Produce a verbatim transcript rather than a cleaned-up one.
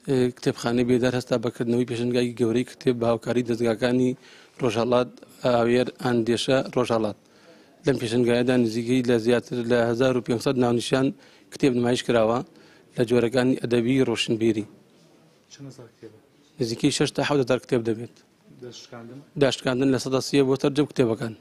کتێبخانەی بێدار هەستا بە کردنەوەی پێشەنگای گەورەی کتێب بە هاوکاری دەزگاکانی ڕۆژهەڵات ئاوێر ئەندێشە ڕۆژهەڵات. لەم پێشەنگایەدا نزیکەی لە زیاتر لە هەزار و پێنج سەد ناونیشان کتێب نمایش کراوە لە جۆرەکانی ئەدەبی ڕۆشنبیری. نزیکەی شەش تا حەوت هەزار کتێب دەبێت. داشکاندن لە سەدا سیە بۆ سەرجەم کتێبەکان.